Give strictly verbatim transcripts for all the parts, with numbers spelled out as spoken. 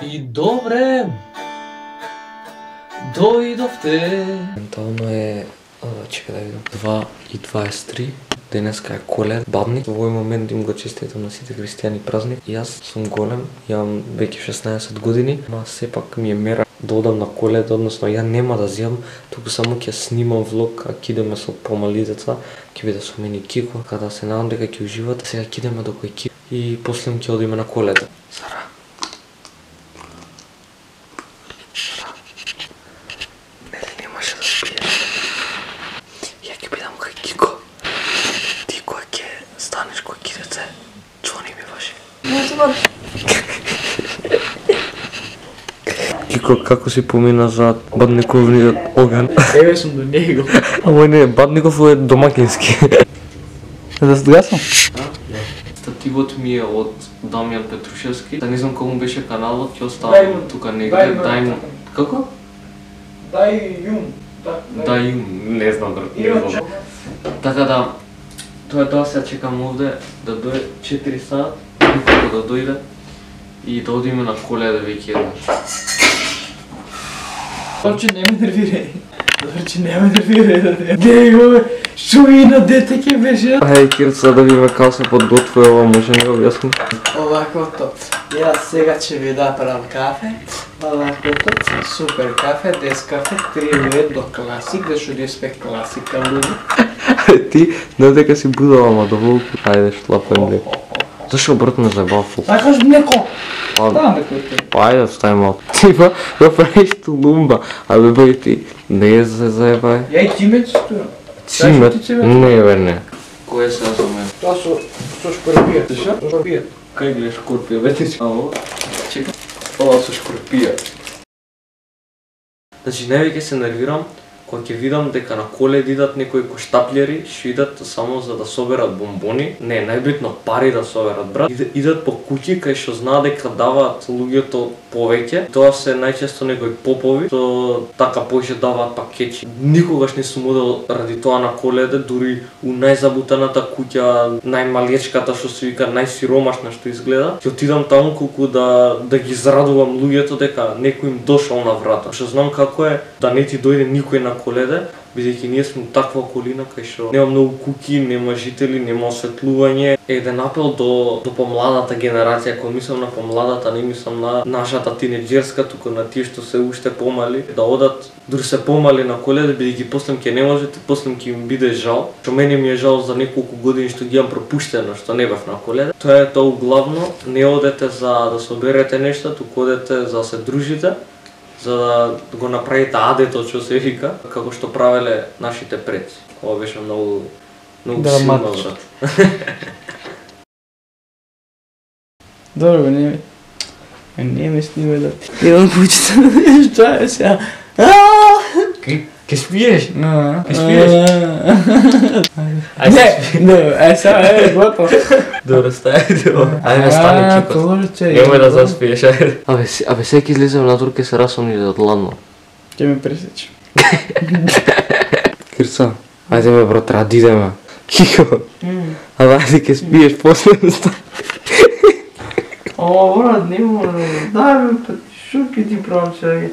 И добре, дојдовте. Ментално е, чека да видам, два и дваесет и три. Денеска е Коледа, бабник. Во овој момент им го честитам на сите христијани празник. И јас сум голем, имам веќе шеснаесет години, ма сепак ми е мера да одам на Коледа, односно ја нема да зијам, туку само ќе снимам влог, а ќе идеме со помали деца, ќе биде со мене Кико, када се надам дека ќе уживат. Сега ќе идеме до кој Кико и после ќе одиме на Коледа. Сара. Сара. Нели немаше да спиеш? Ја ќе бидам кој Кико. Ти кој ќе станеш кој кидеце, чони ми ваши. Кико, како си помина за Бадниковниот оган? Еве сум до него. Ама не, Бадников е домакински. Да се гаснам? Стативот ми е од Дамјан Петрушевски. Да не знам колку беше каналот, ќе оставам тука негде. Дај му. Како? Дај јум. Дај јум, не знам брат, не знам. Така да, тоа е тоа, сега чекам овде да дојде четири сат, никако да дојде и да одиме на Коледа веќе еднаш. Дорче, не ме нервирај. Дорче, не ме нервирај. Него, шуина дете ќе беше. Ај, Кирца, да видиме како се подготвува ова, може не објасни? Оваквото. Јас сега ќе ви направам кафе. Оваквото, супер кафе, дес кафе, три лет до класик, зашто диспек класика луѓе. Ти, не дека си будала, ама доволку. Ајде, шлапен ли. Зашо брат ме заебава фук? Сакаш млеко? Па, Ставам бе кој те. ајде, остави малко. Ти ба, да правиш тулумба. А бе бе ти, не се заебај. Ја и цимет стоја. Цимет? Не бе, не. Кој е сега за мен? Тоа со со шкорпија. Слуша? Шкорпија. Кај гледаш шкорпија, вете си. Ало, чека. Ова со шкорпија. Значи, највеќе се нервирам кога ќе видам дека на Коледа идат некои коштаплери, што идат само за да соберат бомбони. Не, најбитно пари да соберат, брат. Идат по куќи кај што знаат дека даваат луѓето повеќе. Тоа се најчесто некои попови, што така поише даваат пакети. Никогаш не сум одел ради тоа на Коледа, дури у најзабутаната куќа, најмалечката што се вика, најсиромашна што изгледа. Ќе отидам таму колку да да ги зарадувам луѓето дека некој им дошол на врата. Што знам како е да не ти дојде никој на Коледа, бидејќи ние сме таква околина кај што нема многу куќи, нема жители, нема осветлување. Еден апел до до помладата генерација, кога мислам на помладата, не мислам на нашата тинеџерска, туку на тие што се уште помали, да одат дури се помали на Коледа, бидејќи после ќе не можете, после ќе им биде жал. Што мене ми е жал за неколку години што ги имам пропуштено, што не бев на Коледа. Тоа е тоа главно, не одете за да соберете нешта, туку одете за да се дружите, за да го направите адето, што се вика, како што правеле нашите предци. Ова беше многу многу силно, брат. Добро, не ми... Не ме снимај да... Имам кучето. Што е сега? Ке спиеш? Ке спиеш? Не, не, е сега, е, готово. Добро, стајте ова. Ајде, стани, Кико. Торче. Немој да заспиеш, ајде. Абе, абе сега ќе излезем натур, ќе се расомни од ладно. Ќе ме пресече. Кирца, ајде ме брат, треба да идеме. Кико, абе ајде ќе спиеш после стани. О, брат, не мора. Дај ме, шо ќе ти правам сега?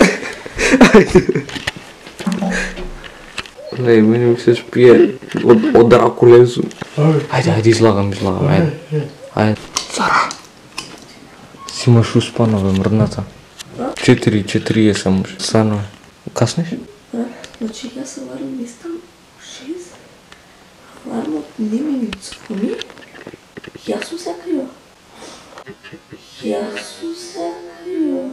Не, мене ми се спие од, од Дракулесу. Ајде, ајде, излагам, излагам, ајде. Ајде. Сара! Си имаш успано, бе, мрдната. Четири, четири е само. Стано е. Каснеш? Значи јас аларм мислам шест, алармот не ми цвони, јас сум се крива. Јас сум се крива.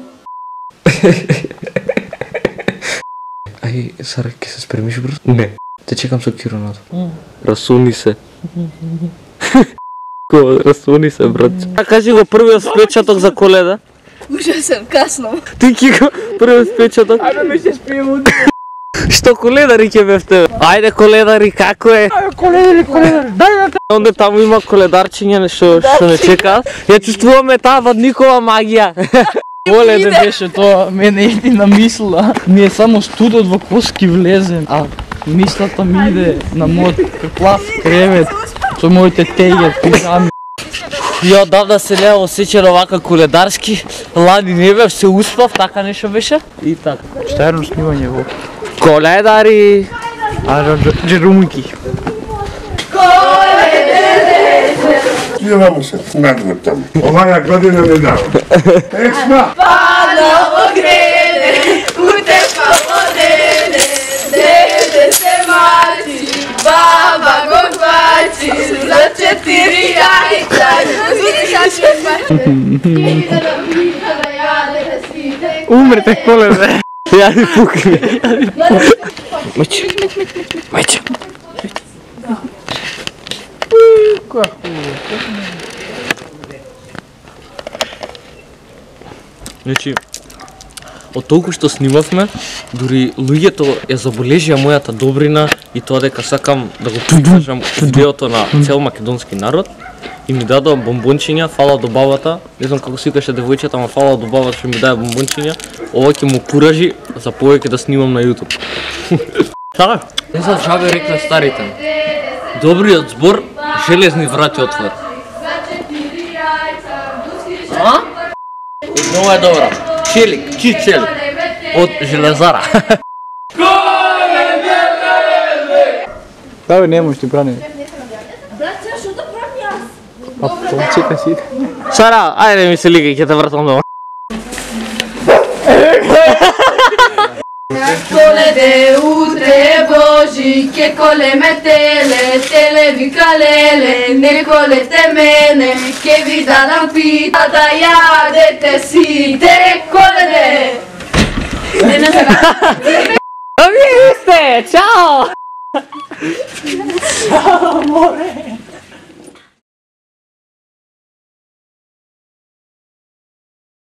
Ај, Сара, ќе се спремиш, брат? Не. Те чекам со киронато. Расуни се. Ко, расуни се, брат. А кажи го првиот спечаток за Коледа. Ужасен, касно. Ти, Кико, првиот спечаток. Ајде ме се спием. Што коледари ќе бев тебе? Ајде коледари, како е? Ајде коледари, коледари, дај да. Онде таму има коледарчиња што што не чекаат. Ја чувствуваме таа Бадникова магија. Воле да беше тоа, мене иди на мисла. Ми е само студот во коски влезем, а мислата ми иде на мојот плав кревет со моите теѓа, пижами. Ја одавна се не осеќам овака коледарски. Лани не бев, се успав, така нешто беше. И така. Šta je jedno snimanje ovo? Коледари! A, Đerumki. Spijevamo se, nadvrtamo. Ovaja godina ne dao. Pesma! Padamo grede, utepa vodene, dede se mači, baba go bači, za četiri jajca, slušaš Umrete kolede. Ја ни пукни. Мајче. Мајче. Значи, од толку што снимавме, дури луѓето ја забележија мојата добрина и тоа дека сакам да го прикажам видеото на цел македонски народ. И ми дадоа бомбончиња, фала до бабата. Не знам како се викаше девојчето, ама фала до бабата што ми даде бомбончиња. Ова ќе му куражи за повеќе да снимам на YouTube. Така? Не знам шабе рекле старите. Добриот збор, железни врати отвор. А? Нова е добра. Челик, чи челик. Од железара. Da, bе, ne možeš ti brani. Брате, што да правам јас? A, to čekaj si. Сара, ајде ми се ликај, ќе те вратам дома. Kolede utre boži, ke kole metele, tele vikalele, ne kolete mene, ke vi da nam pita da jadete si, te kolede. Ne, ne, ne. Amiste, ciao! Amore.